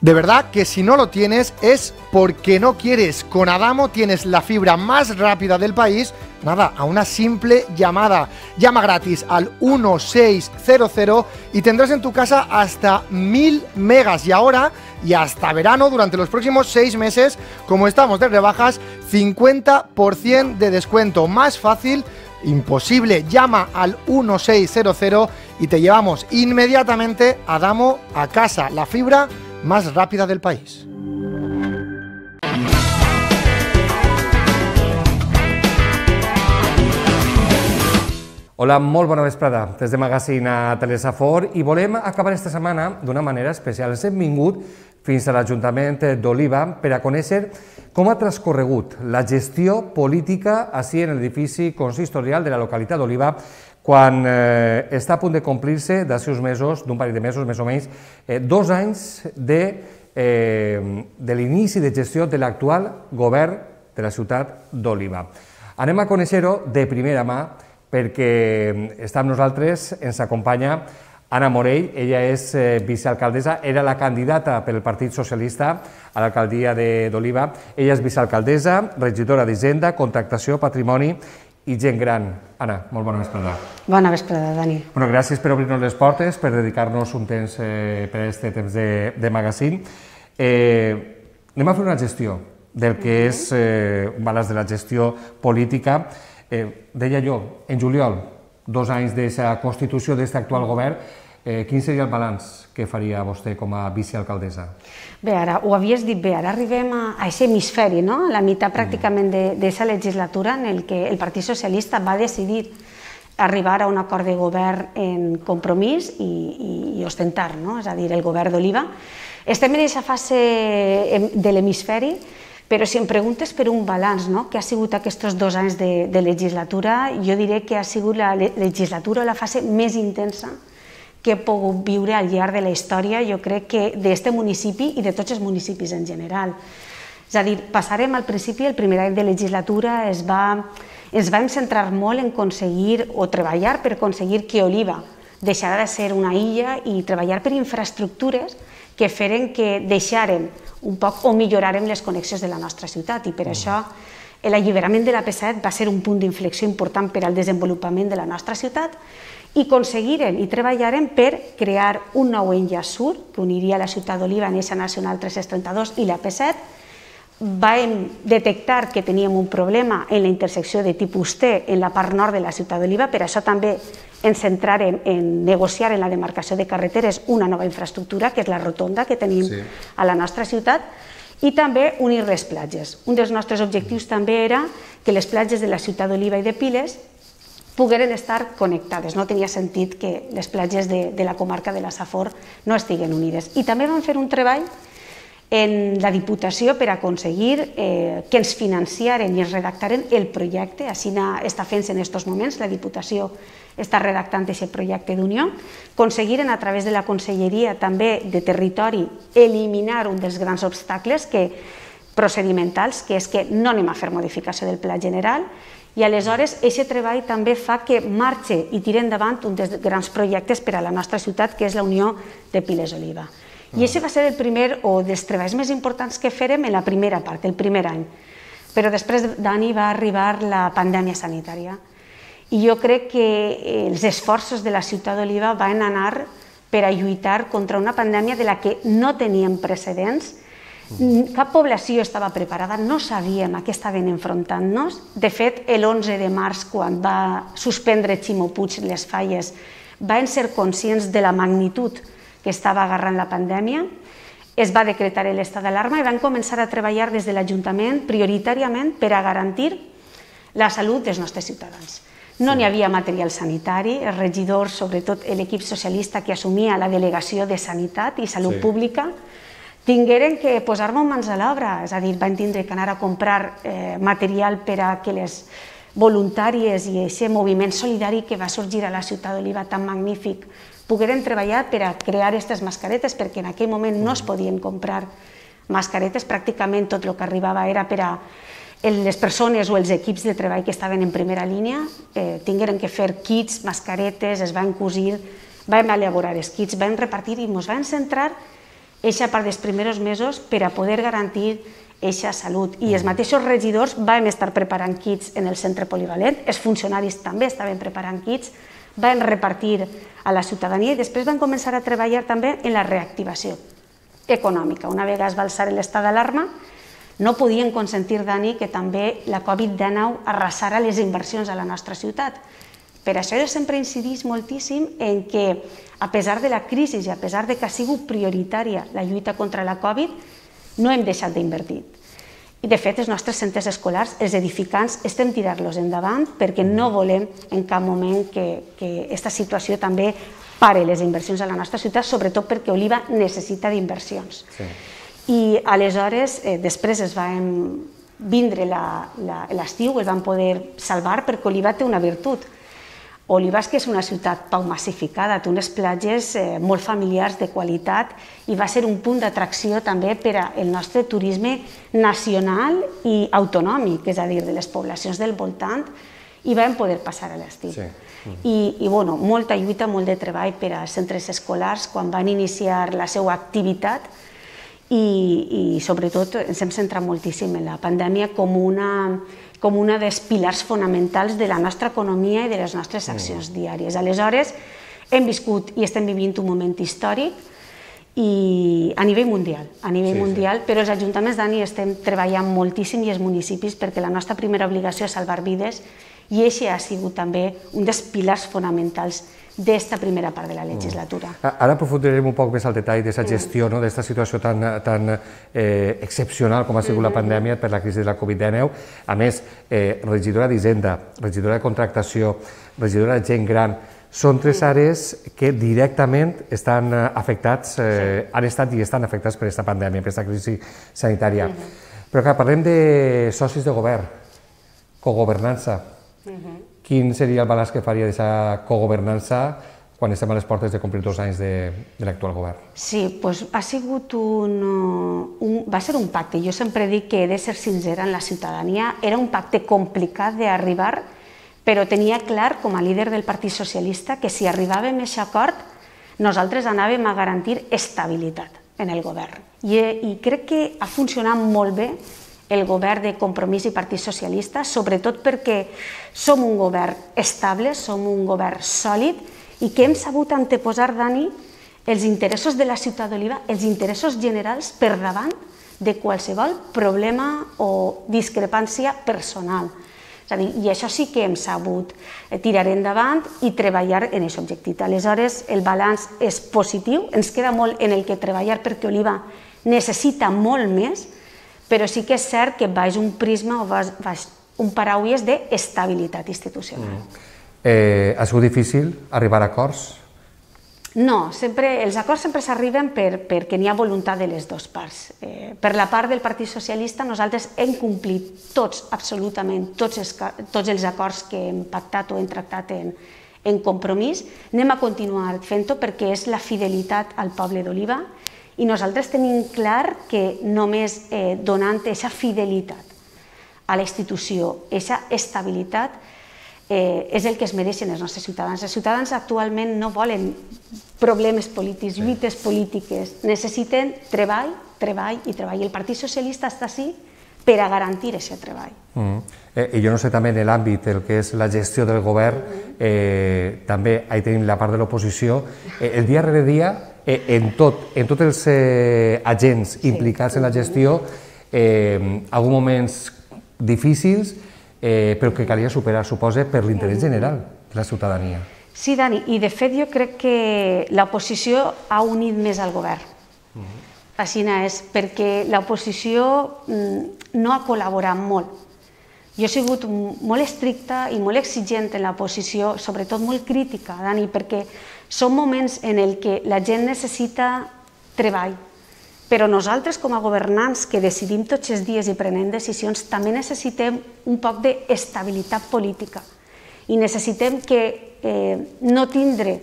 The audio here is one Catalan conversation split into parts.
De verdad que si no lo tienes es porque no quieres. Con Adamo tienes la fibra más rápida del país, nada, a una simple llamada. Llama gratis al 1600 y tendrás en tu casa hasta 1000 megas. Y ahora, y hasta verano, durante los próximos 6 meses, como estamos de rebajas, 50% de descuento. Más fácil imposible. Llama al 1600 y te llevamos inmediatamente Adamo a casa. La fibra más rápida del país. Hola, molt bona vesprada des de Magazine a Telesafor i volem acabar esta setmana d'una manera especial. Ens hem vingut fins a l'Ajuntament d'Oliva per a conèixer com ha transcorregut la gestió política ací en l'edifici consistorial de la localitat d'Oliva quan està a punt de complir-se d'ací uns mesos, d'un parell de mesos més o menys, 2 anys de l'inici de gestió de l'actual govern de la ciutat d'Oliva. Anem a conèixer-ho de primera mà perquè està amb nosaltres, ens acompanya Anna Morell, ella és vicealcaldessa, era la candidata pel Partit Socialista a l'alcaldia d'Oliva, ella és vicealcaldessa, regidora d'Hisenda, Contractació, Patrimoni i gent gran. Anna, molt bona vesprada. Bona vesprada, Dani. Gràcies per obrir-nos les portes, per dedicar-nos un temps per aquest temps de magazine. Anem a fer una gestió del que és un balanç de la gestió política. Deia jo, en juliol, 2 anys d'aquesta constitució d'aquest actual govern, quin seria el balanç que faria vostè com a vicealcaldessa? Bé, ara ho havies dit bé, ara arribem a aquest hemisferi, a la meitat pràcticament d'aquesta legislatura en el que el Partit Socialista va decidir arribar a un acord de govern en compromís i ostentar, és a dir, el govern d'Oliva. Estem en aquesta fase de l'hemisferi, però si em preguntes per un balanç, que ha sigut aquests 2 anys de legislatura, jo diré que ha sigut la legislatura, la fase més intensa que he pogut viure al llarg de la història, jo crec que d'aquest municipi i de tots els municipis en general. És a dir, passarem al principi, el primer any de legislatura ens vam centrar molt en aconseguir o treballar per aconseguir que Oliva deixarà de ser una illa i treballar per infraestructures que feren que deixarem un poc o millorarem les connexions de la nostra ciutat i per això l'alliberament de l'AP7 va ser un punt d'inflexió important per al desenvolupament de la nostra ciutat i aconseguirem i treballarem per crear un nou enllaç sur que uniria la ciutat d'Oliva en l'Eix Nacional 332 i l'AP7. Vam detectar que teníem un problema en la intersecció de tipus T en la part nord de la ciutat d'Oliva, per això també ens centrarem en negociar en la demarcació de carreteres una nova infraestructura, que és la rotonda que tenim a la nostra ciutat, i també unir les platges. Un dels nostres objectius també era que les platges de la ciutat d'Oliva i de Piles pogueren estar connectades. No tenia sentit que les platges de la comarca de la Safor no estiguen unides. I també vam fer un treball en la Diputació per aconseguir que ens financiaren i ens redactaren el projecte. Així està fent-se en aquests moments, la Diputació està redactant aquest projecte d'unió. Aconseguiren a través de la Conselleria també de Territori eliminar un dels grans obstacles procedimentals, que és que no anem a fer modificació del Pla General, i aleshores aquest treball també fa que marxi i tiri endavant un dels grans projectes per a la nostra ciutat, que és la Unió de Piles-Oliva. I aquest va ser el primer o dels treballs més importants que fèrem en la primera part, el primer any. Però després d'any va arribar la pandèmia sanitària i jo crec que els esforços de la ciutat d'Oliva van anar per a lluitar contra una pandèmia de la que no teníem precedents. Cap població estava preparada, no sabíem a què estaven enfrontant-nos. De fet, l'11 de març, quan va suspendre Ximo Puig les falles, van ser conscients de la magnitud que estava agarrant la pandèmia, es va decretar l'estat d'alarma i van començar a treballar des de l'Ajuntament prioritàriament per a garantir la salut dels nostres ciutadans. No n'hi havia material sanitari, els regidors, sobretot l'equip socialista que assumia la delegació de Sanitat i Salut Pública, tingueren que posar-nos mans a l'obra, és a dir, van tindre que anar a comprar material per a que les voluntàries i aquest moviment solidari que va sorgir a la ciutat d'Oliva tan magnífic pogueren treballar per a crear aquestes mascaretes, perquè en aquell moment no es podien comprar mascaretes, pràcticament tot el que arribava era per a les persones o els equips de treball que estaven en primera línia, tingueren que fer kits, mascaretes, es van cosir, vam elaborar els kits, vam repartir i ens vam centrar eixa part dels primers mesos per a poder garantir eixa salut. I els mateixos regidors vam estar preparant kits en el centre polivalent, els funcionaris també estaven preparant kits, van repartir a la ciutadania i després van començar a treballar també en la reactivació econòmica. Una vegada es va alçar l'estat d'alarma, no podien consentir, Dani, que també la Covid-19 arrasara les inversions a la nostra ciutat. Per això jo sempre incidís moltíssim en que, a pesar de la crisi i a pesar de que ha sigut prioritària la lluita contra la Covid, no hem deixat d'invertir. I, de fet, els nostres centres escolars, els edificants, estem tirant-los endavant perquè no volem en cap moment que aquesta situació també pare les inversions a la nostra ciutat, sobretot perquè Oliva necessita d'inversions. I aleshores, després es va vindre l'estiu, es van poder salvar perquè Oliva té una virtut. Oliva és que és una ciutat poc massificada, té unes platges molt familiars de qualitat i va ser un punt d'atracció també per al nostre turisme nacional i autonòmic, és a dir, de les poblacions del voltant, i vam poder passar a l'estiu. I molta lluita, molt de treball per als centres escolars quan van iniciar la seva activitat i sobretot ens hem centrat moltíssim en la pandèmia com una dels pilars fonamentals de la nostra economia i de les nostres accions diàries. Aleshores, hem viscut i estem vivint un moment històric a nivell mundial, però els ajuntaments, Dani, estem treballant moltíssim i els municipis perquè la nostra primera obligació és salvar vides i això ha sigut també un dels pilars fonamentals d'esta primera part de la legislatura. Ara aprofundirem un poc més al detall d'aquesta gestió, d'aquesta situació tan excepcional com ha sigut la pandèmia per la crisi de la Covid-19. A més, regidora d'Hisenda, regidora de Contractació, regidora de Gent Gran, són tres àrees que directament estan afectats, han estat i estan afectats per aquesta pandèmia, per aquesta crisi sanitària. Però clar, parlem de socis de govern, cogovernança. Quin seria el balanç que faria d'aquesta cogovernança quan estem a les portes de complir 2 anys de l'actual govern? Sí, doncs ha sigut va ser un pacte. Jo sempre dic que he de ser sincera en la ciutadania. Era un pacte complicat d'arribar, però tenia clar, com a líder del Partit Socialista, que si arribàvem a aquest acord, nosaltres anàvem a garantir estabilitat en el govern. I crec que ha funcionat molt bé el govern de Compromís i Partit Socialista, sobretot perquè som un govern estable, som un govern sòlid i que hem sabut anteposar, Dani, els interessos de la ciutat d'Oliva, els interessos generals per davant de qualsevol problema o discrepància personal. És a dir, i això sí que hem sabut tirar endavant i treballar en aquest objectiu. Aleshores, el balanç és positiu, ens queda molt en el que treballar perquè Oliva necessita molt més, però sí que és cert que baix un prisma o baix un paraules d'estabilitat institucional. Ha sigut difícil arribar a acords? No, els acords sempre s'arriben perquè n'hi ha voluntat de les dues parts. Per la part del Partit Socialista nosaltres hem complit tots, absolutament, tots els acords que hem pactat o hem tractat en Compromís. Anem a continuar fent-ho perquè és la fidelitat al poble d'Oliva i nosaltres tenim clar que només donant aquesta fidelitat a la institució, aquesta estabilitat, és el que es mereixen els nostres ciutadans. Els ciutadans actualment no volen problemes polítics, lluites polítiques, necessiten treball, treball i treball. El Partit Socialista està així per a garantir aquest treball. I jo no sé també en l'àmbit del que és la gestió del govern, també hi tenim la part de l'oposició, el dia rere dia, en tots els agents implicats en la gestió, alguns moments difícils, però que calia superar, suposa, per l'interès general de la ciutadania. Sí, Dani, i de fet jo crec que l'oposició ha unit més al govern. Així és, perquè l'oposició no ha col·laborat molt. Jo he sigut molt estricta i molt exigent en l'oposició, sobretot molt crítica, Dani, perquè són moments en què la gent necessita treball, però nosaltres com a governants que decidim tots els dies i prenem decisions també necessitem un poc d'estabilitat política i necessitem no tindre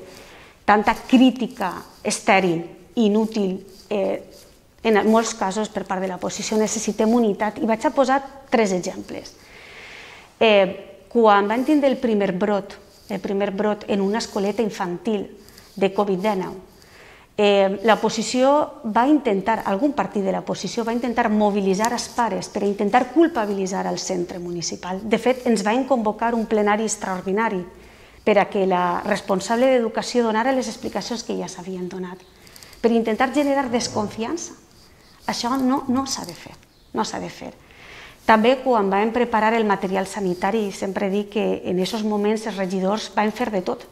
tanta crítica estèril, inútil, en molts casos per part de l'oposició necessitem unitat i vaig a posar 3 exemples. Quan vam tindre el primer brot en una escoleta infantil de Covid-19, L'oposició va intentar, algun partit de l'oposició va intentar mobilitzar els pares per intentar culpabilitzar el centre municipal. De fet, ens van convocar un plenari extraordinari per a que la responsable d'educació donara les explicacions que ja s'havien donat, per intentar generar desconfiança. Això no s'ha de fer, no s'ha de fer. També quan vam preparar el material sanitari, sempre dic que en aquests moments els regidors van fer de tot.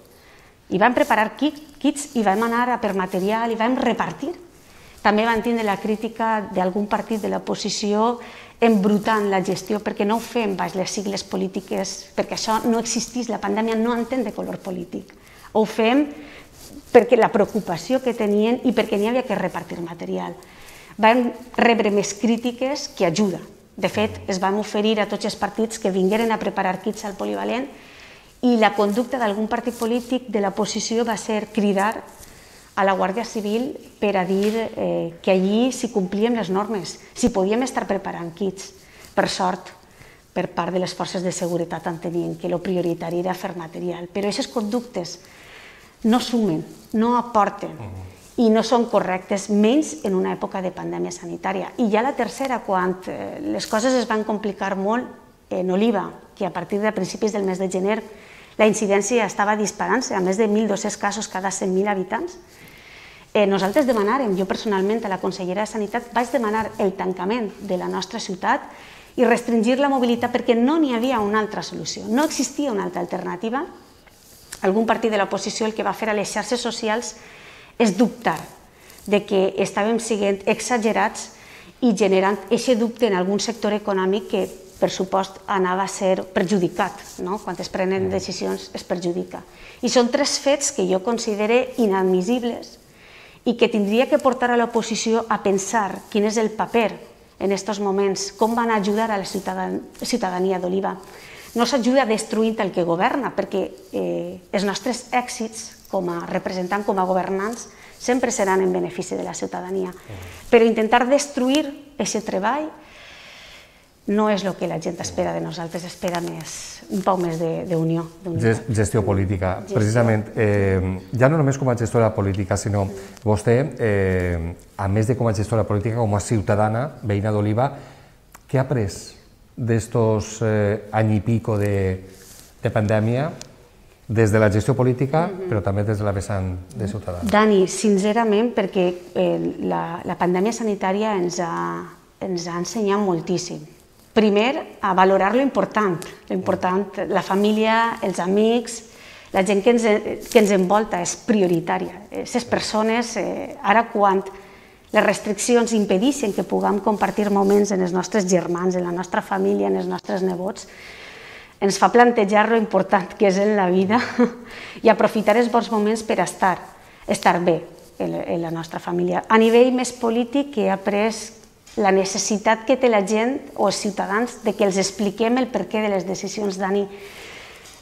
I vam preparar kits i vam anar a per material i vam repartir. També vam tindre la crítica d'algun partit de l'oposició embrutant la gestió perquè no ho fem baix les sigles polítiques, perquè això no existeix, la pandèmia no entén de color polític. Ho fem perquè la preocupació que tenien i perquè n'hi havia que repartir material. Vam rebre més crítiques que ajuda. De fet, es vam oferir a tots els partits que vingueren a preparar kits al polivalent i la conducta d'algun partit polític de l'oposició va ser cridar a la Guàrdia Civil per a dir que allí si complíem les normes, si podíem estar preparant kits. Per sort, per part de les forces de seguretat entenien que el prioritari era fer material, però aquestes conductes no sumen, no aporten i no són correctes, menys en una època de pandèmia sanitària. I ja la tercera, quan les coses es van complicar molt en Oliva, que a partir de principis del mes de gener la incidència estava disparant-se a més de 1.200 casos cada 100.000 habitants. Nosaltres demanàrem, jo personalment a la consellera de Sanitat vaig demanar el tancament de la nostra ciutat i restringir la mobilitat perquè no n'hi havia una altra solució, no existia una altra alternativa. Algun partit de l'oposició el que va fer a les xarxes socials és dubtar de que estàvem sent exagerats i generant aquest dubte en algun sector econòmic que per supost anava a ser perjudicat, quan es prenen decisions es perjudica. I són tres fets que jo considero inadmissibles i que tindria que portar a l'oposició a pensar quin és el paper en aquests moments, com van ajudar a la ciutadania d'Oliva. No s'ajuda destruint el que governa, perquè els nostres èxits com a representants, com a governants, sempre seran en benefici de la ciutadania. Però intentar destruir aquest treball no és el que la gent espera de nosaltres, espera un poc més d'unió. Gestió política. Precisament, ja no només com a gestora política, sinó vostè, a més de com a gestora política, com a ciutadana, veïna d'Oliva, què ha après d'estos any i pico de pandèmia des de la gestió política, però també des de la vessant de ciutadana? Dani, sincerament, perquè la pandèmia sanitària ens ha ensenyat moltíssim. Primer, a valorar l'important, la família, els amics, la gent que ens envolta és prioritària. Aquestes persones, ara quan les restriccions impedeixen que puguem compartir moments amb els nostres germans, en la nostra família, amb els nostres nebots, ens fa plantejar lo important que és en la vida i aprofitar els bons moments per estar bé en la nostra família. A nivell més polític, he après la necessitat que té la gent o els ciutadans de que els expliquem el perquè de les decisions, Dani.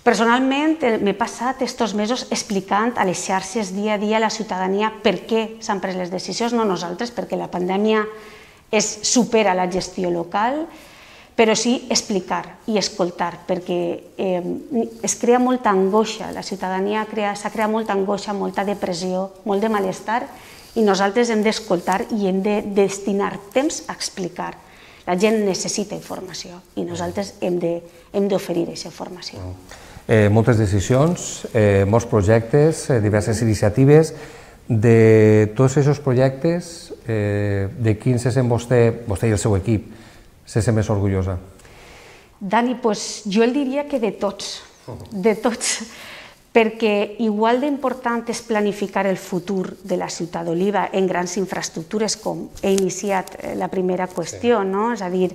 Personalment, m'he passat aquests mesos explicant a les xarxes dia a dia a la ciutadania per què s'han pres les decisions, no nosaltres, perquè la pandèmia supera la gestió local, però sí explicar i escoltar, perquè es crea molta angoixa, la ciutadania s'ha creat molta angoixa, molta depressió, molt de malestar, i nosaltres hem d'escoltar i hem de destinar temps a explicar. La gent necessita informació i nosaltres hem d'oferir aquesta informació. Moltes decisions, molts projectes, diverses iniciatives. De tots aquests projectes, de quin se sent vostè i el seu equip, se sent més orgullosa? Dani, jo el diria que de tots, perquè igual d'important és planificar el futur de la ciutat d'Oliva en grans infraestructures, com he iniciat la primera qüestió, és a dir,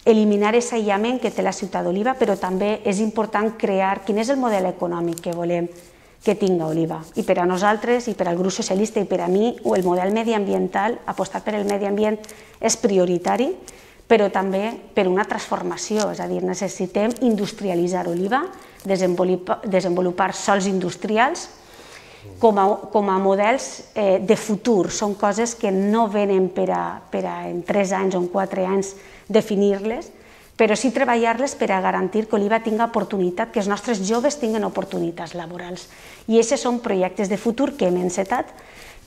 eliminar aquest aïllament que té la ciutat d'Oliva, però també és important crear quin és el model econòmic que volem que tingui Oliva. I per a nosaltres, i per al grup socialista, i per a mi, el model mediambiental, apostar per el medi ambient és prioritari, però també per una transformació, és a dir, necessitem industrialitzar Oliva, desenvolupar sols industrials com a models de futur. Són coses que no venen per a en 3 anys o en 4 anys definir-les, però sí treballar-les per a garantir que Oliva tingui oportunitat, que els nostres joves tinguin oportunitats laborals. I aquests són projectes de futur que hem encetat,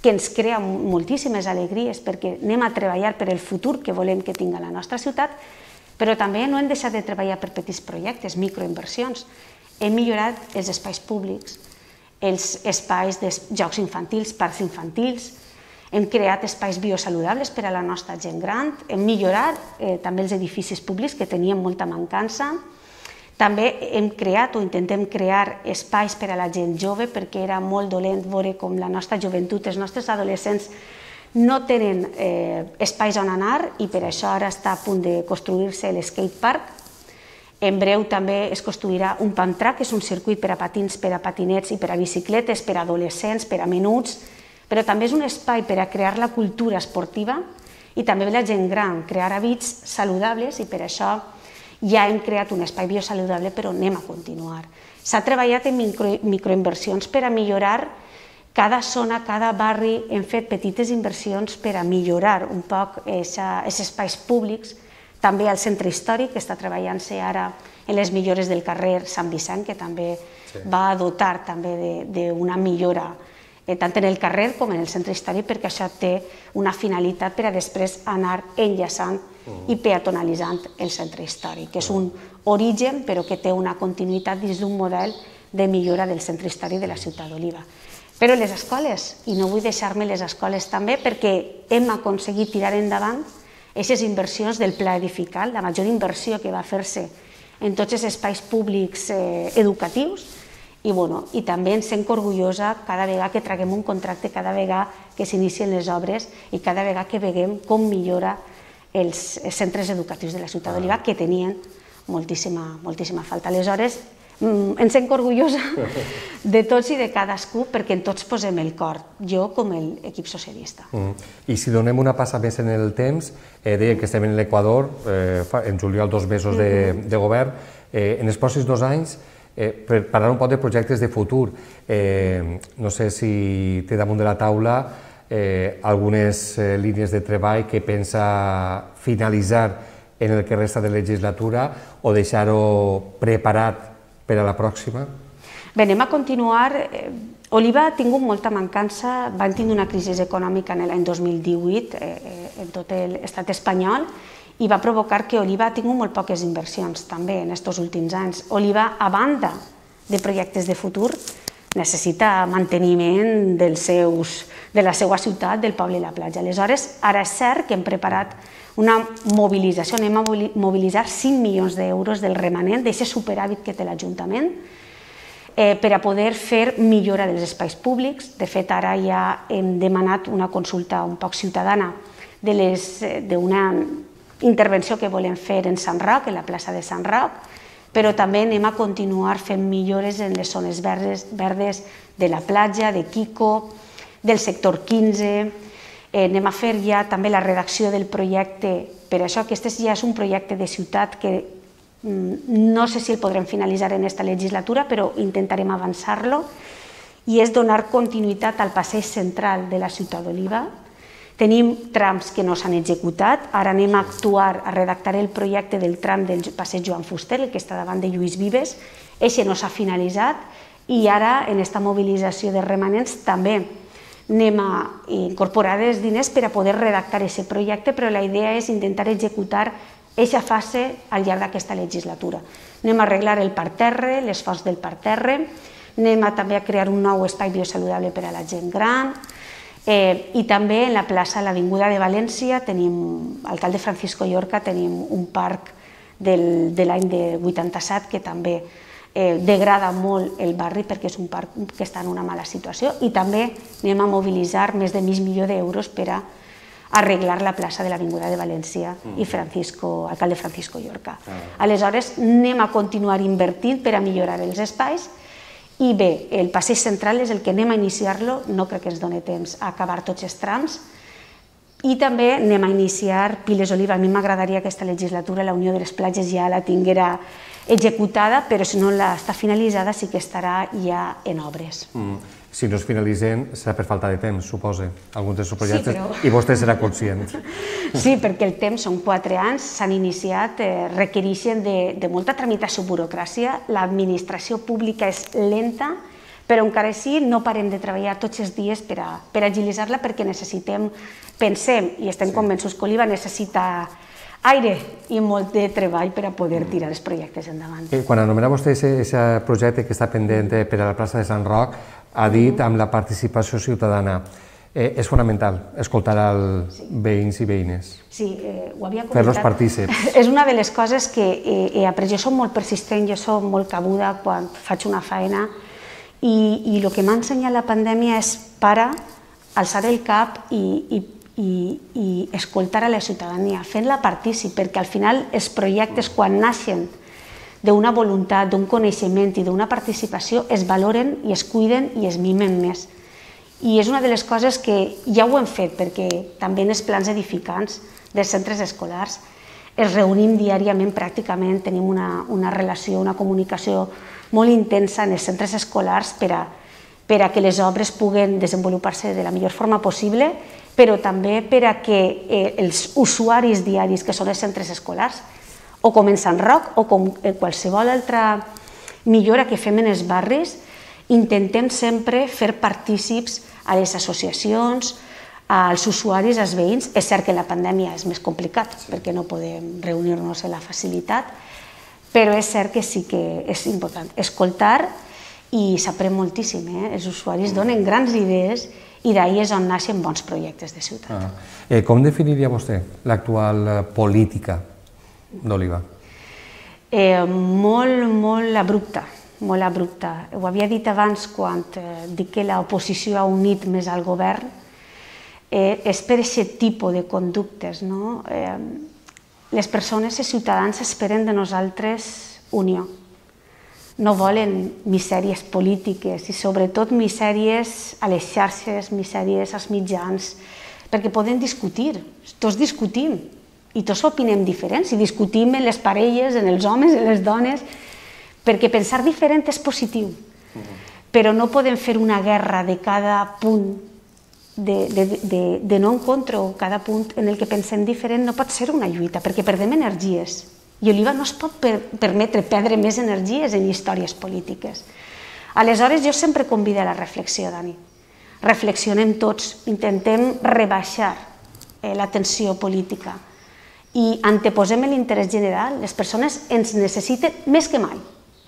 que ens crea moltíssimes alegries perquè anem a treballar per el futur que volem que tingui la nostra ciutat, però també no hem deixat de treballar per petits projectes, microinversions. Hem millorat els espais públics, els espais de jocs infantils, parcs infantils, hem creat espais biosaludables per a la nostra gent gran, hem millorat també els edificis públics que tenien molta mancança, també hem creat o intentem crear espais per a la gent jove perquè era molt dolent veure com la nostra joventut, els nostres adolescents no tenen espais on anar i per això ara està a punt de construir-se l'skatepark. En breu també es construirà un pump track, que és un circuit per a patins, per a patinets i per a bicicletes, per a adolescents, per a menuts, però també és un espai per a crear la cultura esportiva i també la gent gran, crear hàbits saludables i per això ja hem creat un espai biosaludable, però anem a continuar. S'ha treballat en microinversions per a millorar cada zona, cada barri, hem fet petites inversions per a millorar un poc aquests espais públics, també al centre històric, que està treballant-se ara en les millores del carrer Sant Vicent, que també va dotar també d'una millora tant en el carrer com en el centre històric, perquè això té una finalitat per a després anar enllaçant i peatonalitzant el centre històric, que és un origen però que té una continuïtat dins d'un model de millora del centre històric de la ciutat d'Oliva. Però les escoles, i no vull deixar-me les escoles també, perquè hem aconseguit tirar endavant aquestes inversions del pla edifical, la major inversió que va fer-se en tots els espais públics educatius, i també ens sent orgullosa cada vegada que traguem un contracte, cada vegada que s'inicien les obres i cada vegada que veiem com millora els centres educatius de la ciutat d'Oliva, que tenien moltíssima falta. Aleshores, ens sent orgullosa de tots i de cadascú perquè en tots posem el cor, jo com l'equip socialista. I si donem una passa més en el temps, deia que estem en l'Equador, en juliol 2 mesos de govern, en els pròxims 2 anys, per parlar un poc de projectes de futur, no sé si té damunt de la taula algunes línies de treball que pensa finalitzar en el que resta de legislatura o deixar-ho preparat per a la pròxima? Bé, anem a continuar. Oliva ha tingut molta mancança, van tenir una crisi econòmica en l'any 2018 en tot l'estat espanyol i va provocar que Oliva ha tingut molt poques inversions també en aquests últims anys. Oliva, a banda de projectes de futur, necessita manteniment de la seva ciutat, del poble i la platja. Aleshores, ara és cert que hem preparat una mobilització, anem a mobilitzar 5 milions d'euros del remanent d'aquest superàvit que té l'Ajuntament per a poder fer millora dels espais públics. De fet, ara ja hem demanat una consulta un poc ciutadana d'una intervenció que volem fer en Sant Roc, en la plaça de Sant Roc, però també anem a continuar fent millores en les zones verdes de la platja, de Quico, del sector 15, anem a fer ja també la redacció del projecte, per això aquest ja és un projecte de ciutat que no sé si el podrem finalitzar en aquesta legislatura, però intentarem avançar-lo, i és donar continuïtat al passeig central de la ciutat d'Oliva. Tenim trams que no s'han executat, ara anem a actuar, a redactar el projecte del tram del passeig Joan Fuster, el que està davant de Lluís Vives, això no s'ha finalitzat i ara en aquesta mobilització de remanents també anem a incorporar els diners per a poder redactar aquest projecte, però la idea és intentar executar aquesta fase al llarg d'aquesta legislatura. Anem a arreglar el parterre, l'esforç del parterre, anem també a crear un nou espai biosaludable per a la gent gran, i també en la plaça, a l'Avinguda de València, tenim, alcalde Francisco Llorca, tenim un parc de l'any de 87 que també degrada molt el barri perquè és un parc que està en una mala situació, i també anem a mobilitzar més de mig milió d'euros per a arreglar la plaça de l'Avinguda de València i alcalde Francisco Llorca. Aleshores, anem a continuar invertint per a millorar els espais. I bé, el passeig central és el que anem a iniciar-lo, no crec que ens doni temps a acabar tots els trams, i també anem a iniciar Piles Oliva. A mi m'agradaria que aquesta legislatura la Unió de les Platges ja la tinguera executada, però si no està finalitzada sí que estarà ja en obres. si no es finalitzen serà per falta de temps, suposa, alguns dels projectes, Sí, però... i vostè serà conscient. Sí, perquè el temps són 4 anys, s'han iniciat, requereixen de molta tramitació burocràcia, l'administració pública és lenta, però encara així no parem de treballar tots els dies per agilitzar-la perquè necessitem, pensem i estem convençuts que Oliva necessita aire i molt de treball per a poder tirar els projectes endavant. Quan anomena vostè aquest projecte que està pendent per a la plaça de Sant Roc, ha dit amb la participació ciutadana. És fonamental escoltar els veïns i veïnes. Sí, ho havia comentat. Fer-los partícips. És una de les coses que he après. Jo soc molt persistent, jo soc molt cabuda quan faig una feina i el que m'ha ensenyat la pandèmia és parar, alçar el cap i escoltar a la ciutadania, fent-la partícip, perquè al final els projectes quan naixen d'una voluntat, d'un coneixement i d'una participació es valoren i es cuiden i es mimen més. I és una de les coses que ja ho hem fet, perquè també en els plans edificants dels centres escolars es reunim diàriament pràcticament, tenim una relació, una comunicació molt intensa en els centres escolars per a que les obres puguen desenvolupar-se de la millor forma possible, però també per a que els usuaris diaris que són els centres escolars, o com en Sant Roc o com en qualsevol altra millora que fem en els barris, intentem sempre fer partícips a les associacions, als usuaris, als veïns. És cert que la pandèmia és més complicat perquè no podem reunir-nos amb la facilitat, però és cert que sí que és important escoltar i s'aprèn moltíssim. Els usuaris donen grans idees i d'ahir és on naixen bons projectes de ciutat. Com definiria vostè l'actual política d'Oliva? Molt abrupta, molt abrupta. Ho havia dit abans quan dic que l'oposició ha unit més al govern. És per aquest tipus de conductes. Les persones, els ciutadans, esperen de nosaltres unió. No volen misèries polítiques i sobretot misèries a les xarxes, misèries als mitjans, perquè poden discutir, tots discutim i tots opinem diferents i discutim en les parelles, en els homes, en les dones, perquè pensar diferent és positiu, però no podem fer una guerra de cada punt de no encontro, cada punt en el que pensem diferent no pot ser una lluita, perquè perdem energies. I Oliva no es pot permetre perdre més energies en històries polítiques. Aleshores, jo sempre convido a la reflexió, Dani. Reflexionem tots, intentem rebaixar la tensió política i anteposem l'interès general. Les persones ens necessiten més que mai,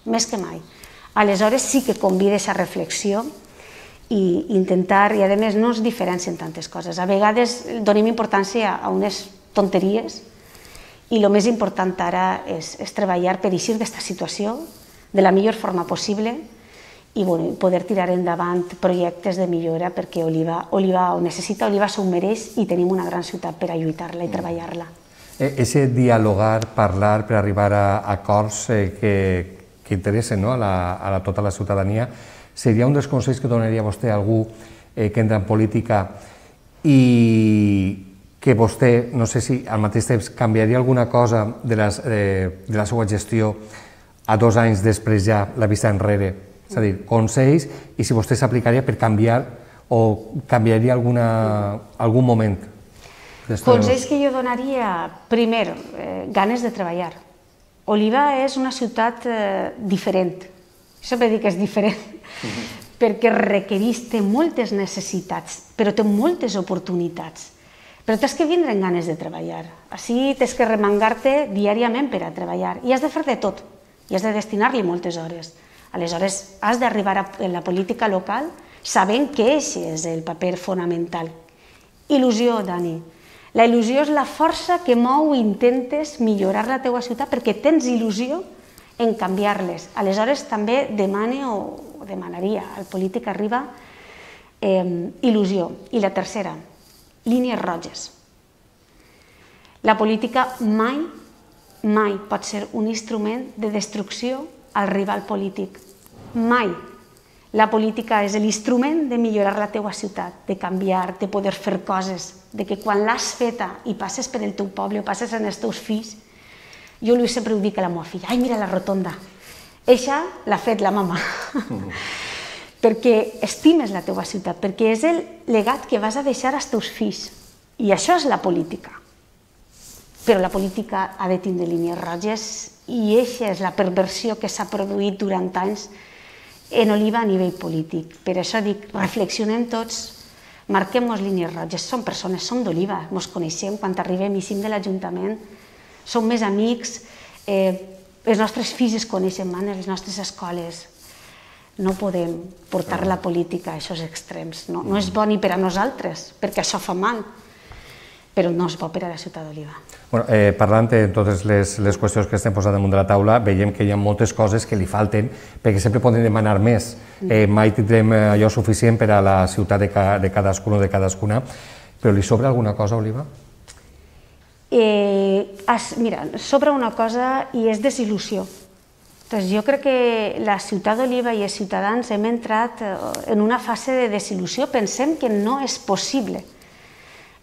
més que mai. Aleshores, sí que convides a reflexió i intentar, i a més no es diferencien tantes coses. A vegades donem importància a unes tonteries i el més important ara és treballar per eixir d'aquesta situació de la millor forma possible i poder tirar endavant projectes de millora perquè Oliva ho necessita, Oliva s'ho mereix i tenim una gran ciutat per a lluitar-la i treballar-la. Ese dialogar, parlar per arribar a acords que interessen a tota la ciutadania seria un dels consells que donaria vostè a algú que entra en política i que vostè, no sé si al mateix temps canviaria alguna cosa de la seva gestió a 2 anys després ja la vista enrere, és a dir, consells i si vostè s'aplicaria per canviar o canviaria algun moment. Consells que jo donaria, primer, ganes de treballar. Oliva és una ciutat diferent, sempre dic que és diferent, perquè requereix, té moltes necessitats, però té moltes oportunitats. Però tens que vindre amb ganes de treballar. Així tens que remangar-te diàriament per a treballar. I has de fer de tot. I has de destinar-li moltes hores. Aleshores, has d'arribar a la política local sabent que aquest és el paper fonamental. Il·lusió, Dani. La il·lusió és la força que mou i intentes millorar la teua ciutat perquè tens il·lusió en canviar-les. Aleshores, també demanaria al polític arriba il·lusió. I la tercera, línies roges. La política mai pot ser un instrument de destrucció al rival polític. Mai. La política és l'instrument de millorar la teua ciutat, de canviar, de poder fer coses, de que quan l'has feta i passes per el teu poble o passes en els teus fills, jo sempre ho dic a la meva filla, ai, mira la rotonda, eixa l'ha fet la mama. perquè estimes la teva ciutat, perquè és el legat que vas a deixar als teus fills. I això és la política. Però la política ha de tindre línies roges i aquesta és la perversió que s'ha produït durant anys en Oliva a nivell polític. Per això dic, reflexionem tots, marquem-nos línies roges. Som persones, som d'Oliva, ens coneixem, quan arribem i cim de l'Ajuntament, som més amics, els nostres fills es coneixen, van a les nostres escoles. No podem portar la política a aquests extrems. No és bo ni per a nosaltres, perquè això fa mal, però no és bo per a la ciutat d'Oliva. Parlant de totes les qüestions que estem posant damunt de la taula, veiem que hi ha moltes coses que li falten, perquè sempre podem demanar més. Mai tindrem allò suficient per a la ciutat de cadascun o de cadascuna, però li sobra alguna cosa, Oliva? Mira, sobra una cosa i és desil·lusió. Jo crec que la ciutat d'Oliva i els ciutadans hem entrat en una fase de desil·lusió. Pensem que no és possible.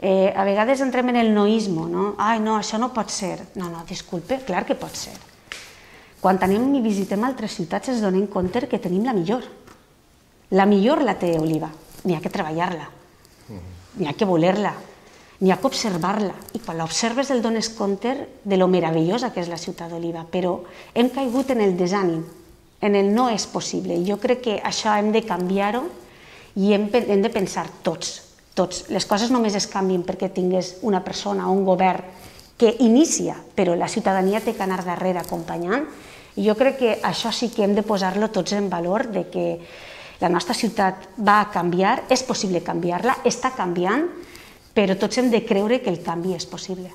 A vegades entrem en el noisme, no? Ai, no, això no pot ser. No, disculpe, clar que pot ser. Quan anem i visitem altres ciutats ens donem compte que tenim la millor. La millor la té Oliva. N'hi ha que treballar-la, n'hi ha que voler-la, n'hi ha que observar-la. I quan l'observes et dones compte de lo meravellosa que és la ciutat d'Oliva. Però hem caigut en el desànim, en el no és possible. I jo crec que això hem de canviar-ho i hem de pensar tots. Les coses només es canvien perquè tingués una persona o un govern que inicia, però la ciutadania té que anar darrere acompanyant. I jo crec que això sí que hem de posar-lo tots en valor, de que la nostra ciutat va a canviar, és possible canviar-la, està canviant, però tots hem de creure que el canvi és possible.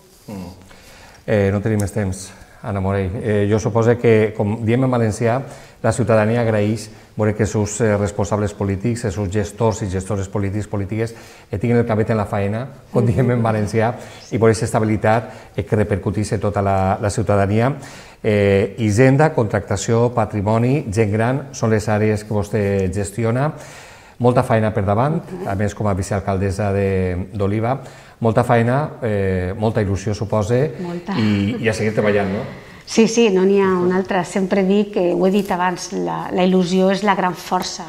No tenim més temps, Anna Morell. Jo suposo que, com diem en valencià, la ciutadania agraeix veure que els seus responsables polítics, els seus gestors i gestores polítiques tinguin el cabet en la faena, com diem en valencià, i veure aquesta estabilitat que repercuteix a tota la ciutadania. Hisenda, contractació, patrimoni, gent gran, són les àrees que vostè gestiona. Molta feina per davant, a més com a vicealcaldessa d'Oliva, molta feina, molta il·lusió, supose, i a seguir treballant, no? Sí, no n'hi ha una altra. Sempre dic, ho he dit abans, la il·lusió és la gran força.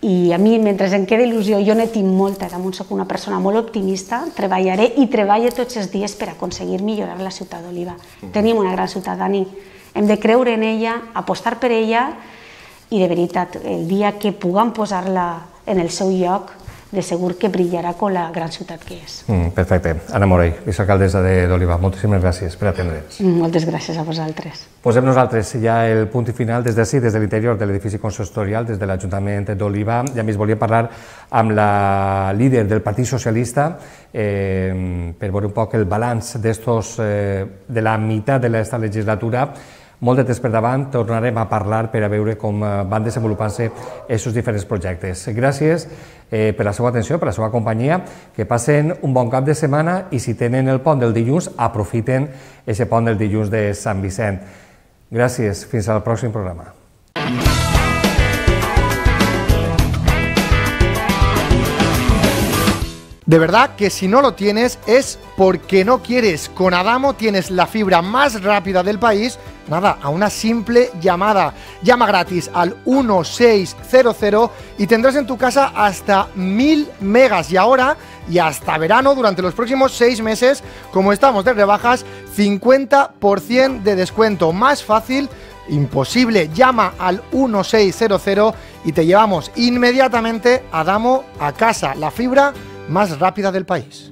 I a mi, mentre em queda il·lusió, jo ne tinc molta, damunt soc una persona molt optimista, treballaré i treballo tots els dies per aconseguir millorar la ciutat d'Oliva. Tenim una gran ciutat, Dani. Hem de creure en ella, apostar per ella, i de veritat, el dia que puguem posar-la en el seu lloc, de segur que brillarà com la gran ciutat que és. Perfecte. Anna Morell, vicealcaldessa d'Oliva, moltíssimes gràcies per atendre'ns. Moltes gràcies a vosaltres. Posem nosaltres ja el punt i final des d'ací, des de l'interior de l'edifici consistorial, des de l'Ajuntament d'Oliva. I a més volia parlar amb la líder del Partit Socialista per veure un poc el balanç de la meitat d'aquesta legislatura. Molt de temps per davant, tornarem a parlar per a veure com van desenvolupant-se aquests diferents projectes. Gràcies per la seva atenció, per la seva companyia, que passen un bon cap de setmana i si tenen el pont del dilluns, aprofiten aquest pont del dilluns de Sant Vicent. Gràcies, fins al pròxim programa. De verdad que si no lo tienes es porque no quieres. Con Adamo tienes la fibra más rápida del país, nada, a una simple llamada. Llama gratis al 1600 y tendrás en tu casa hasta 1000 megas. Y ahora, y hasta verano, durante los próximos 6 meses, como estamos de rebajas, 50% de descuento. Más fácil, imposible. Llama al 1600 y te llevamos inmediatamente Adamo a casa. La fibra más rápida del país.